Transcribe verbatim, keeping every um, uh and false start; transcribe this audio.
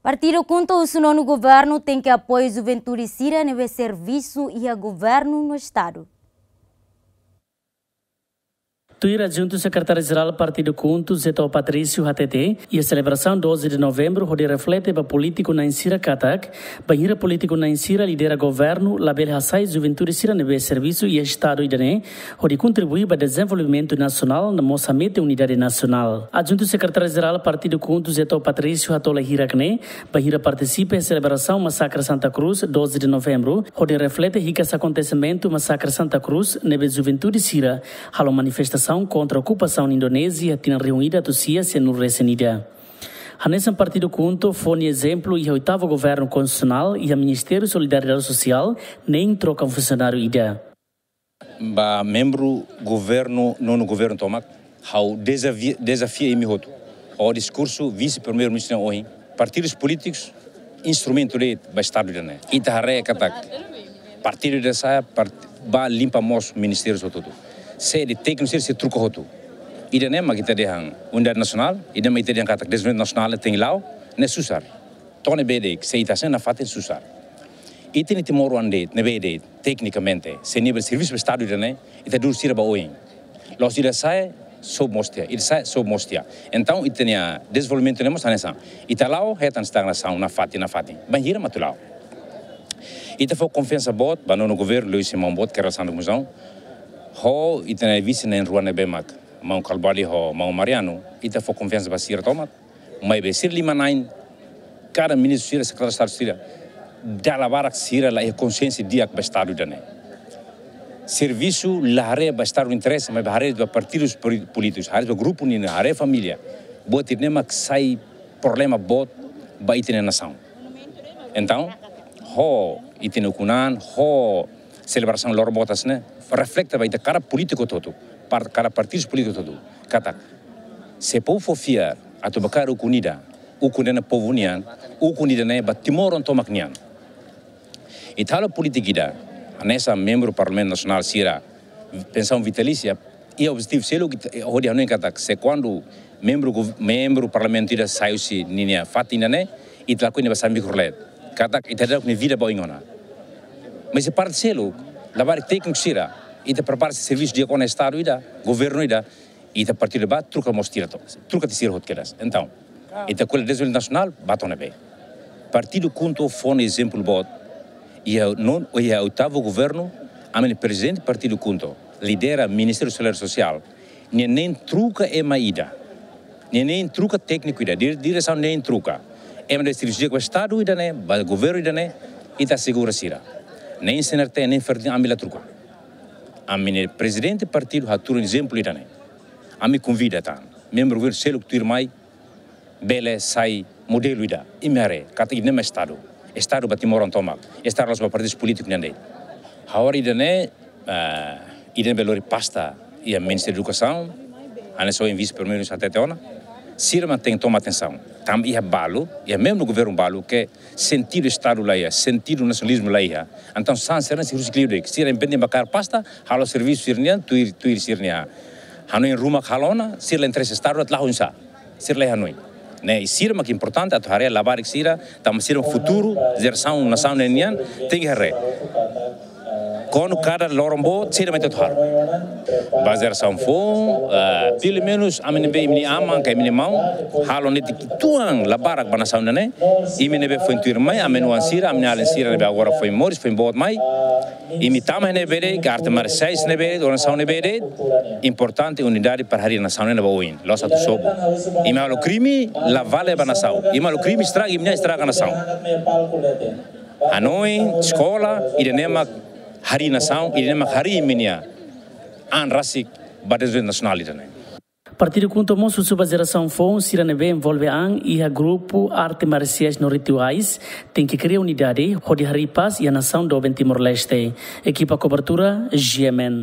Partidu KHUNTO husu nonu governu tenke apoiu juventude sira ne'ebé servisu iha governu no estadu. Tuir Adjuntu Sekretáriu Jerál Partidu KHUNTO, Zeto Patrício, hateten, iha selebrasaun doze de novembru hodi reflete ba polítiku na'in sira katak, bainhira polítiku na'in sira lidera governu, labele hasai juventude sira ne'ebé servisu iha estadu ida-ne'e, hodi kontribui ba dezenvolvimentu nasionál no mós hamete unidade nasionál. Adjuntu Sekretáriu Jerál Partidu KHUNTO, Zeto Patrício, hato'o hirak-ne'e bainhira partisipa iha selebrasaun Masakre Santa Cruz, doze de novembru, hodi reflete hikas akontesimentu Masakre Santa Cruz, ne'ebé juventude sira halo manifestasaun kontra okupasaun Indonézia iha tinan rihun ida atus sia sianulu-resin-ida. Hanesan Partidu KHUNTO fó nia ezemplu iha oitavu governu konstitusionál iha Ministériu Solidariedade Sosiál, neen troka funsionáriu ida. Ba membru governu, nonu governu tomak, ha'u dezafia, dezafia imi hotu. Ho diskursu vise-primeiru-ministru nian ohin, partidus polítikus instrumentu de'it ba estadu ida-ne'e. Ita haree katak partidu ida sa'e, part-, bá limpa moos ministériu hotu-hotu. Sé de'it tékniku sira sei troka hotu. Ida-ne'e mak ita dehan unidade nasionál, ida-ne'e mak ita dehan katak dezenvolvimentu nasionál tenke la'o, ne'e susar. To'o ne'ebé de'it, se ita hasai nafatin susar. Ita-nia timoroan de'it, ne'ebé de'it, teknikamente, se nivel servisu ba estadu ida-ne'e, ita dudu sira ba oin. La'ós ida sa'e, sobu moos tiha, ida sa'e, sobu moos tiha. Entaun, ita-nia dezenvolvimentu ne'e mós hanesan. Ita la'o, hetan estagnasaun nafatin, nafatin. Bainhira mak atu la'o. Ita fó konfiansa boot ba nonu governu, liuhusi maun boot, Kay Rala Xanana Gusmão. Ho ita-nia vise na'in-rua ne'ebé mak maun Carvalho ho maun Mariano, ita fó konfiansa ba sira tomak. Maibé sira lima na'in, kada ministru sira, sekretáriu estadu sira, dala barak sira la iha konsiénsia di'ak ba estadu ida-ne'e. Servisu la haree ba estadu interese, maibé haree ba partidus poli-, polítikus, haree ba grupu nian, haree família. Buat ida-ne'e mak sai problema boot ba ita-nia nasaun. Entaun, ho ita-nia ukun-an, ho selebrasaun loron boot hanesan ne'e, reflete ba ita kada polítiku hotu-hotu, par-, kada partidus polítikus hotu-hotu. Katak, se povu fó fiar atu bá kaer ukun ida, ukun ida-ne'e povu nian, ukun ida-ne'e ba timoroan tomak nian. Ita halo polítika ida, hanesan membru Parlamentu Nasionál sira, pensaun vitalísia, iha objetivu seluk ita, hodi hanoin katak, se kuandu membru gov-, membru parlamentu ida sai husi ninia fatin ida-ne'e, ita lakohi nia bá sai mikrolet. Katak ita dadauk nia vida ba oin ona. Maibé iha parte seluk, labarik tékniku sira, ita prepara servisu di'ak ona estadu ida, governu ida, ita partidu bá, troka moos tiha to'o, troka tiha sira hotu kedas. Entaun, ita ko'alia dezenvolvimentu nasionál, bá to'o ne'ebé. Partidu KHUNTO fó nia ezemplu boot, iha non, iha oitavu governu, ami-nia prezidente partidu KHUNTO, lidera Ministériu Solidariedade Sosiál, nia neen troka ema ida. Nia neen troka tékniku ida, dire-, diresaun neen troka. Ema ne'ebé servisu di'ak ba estadu ida-ne'e, ba governu ida-ne'e, ita asegura sira. Neen CNRT, neen FERTIL ami la troka. Ami-nia prezidente partidu hatudu ezemplu ida-ne'e. Ami konvida tan membru governu seluk tuirmai, bele sai modelu ida. Imi haree, katak ida-ne'e mak estadu. Estadu ba timoroan tomak. Estadu la'ós ba partidus polítiku nian de'it. Agora ida-ne'e, ah, ida-ne'ebé lori pasta iha Ministériu Edukasaun, hanesan ohin vise-primeiru-ministru hatete ona, sira mak tenke toma atensaun. Tanba iha balu, iha membru governu balu ke sentidu estadu la iha, sentidu nasionalizmu la iha. Entaun, sasán sira-ne'e sei husik liu de'it. Sira independente ba kaer pasta, halo servisu sira-nian, tuir, tuir sira-nia hanoin ruma halo ona, sira la interese estadu, la halo oinsá. Sira la hanoin. Ne'e, i sira mak importante atu haree labarik sira, tanba sira futuru, jerasaun nasaun ne'e nian, tenke haree. Kuandu kada loron boot, sira mak atu halo. Ba jerasaun foun, ah, pelumenus, ami ne'ebé imi-nia aman, ka imi-nia maun, halo netik tuan labarik ba nasaun ne'e, imi ne'ebé foin tuirmai, ami-nia oan sira, ami-nia alin sira ne'ebé agora foin moris, foin boot mai, imi tama ne'ebé de'it, ka arte marsiais ne'ebé de'it, organizasaun ne'ebé de'it, importante unidade para harii nasaun ne'e ba oin, la'ós atu sobu. Imi halo krime, la vale ba nasaun. Imi halo krime estraga, imi-nian estraga nasaun. Hanoin, eskola, ida-ne'e mak harii nasaun, ida-ne'e mak harii imi-nia an rasik ba dezenvolvimentu nasionál ida-ne'e. Partidu KHUNTO mós husu ba jerasaun foun sira ne'ebé envolve an iha grupu arte marsiais no rituais, tenke kria unidade, hodi harii pás iha nasaun doben Timor-Leste. Ekipa kobertura, G M N.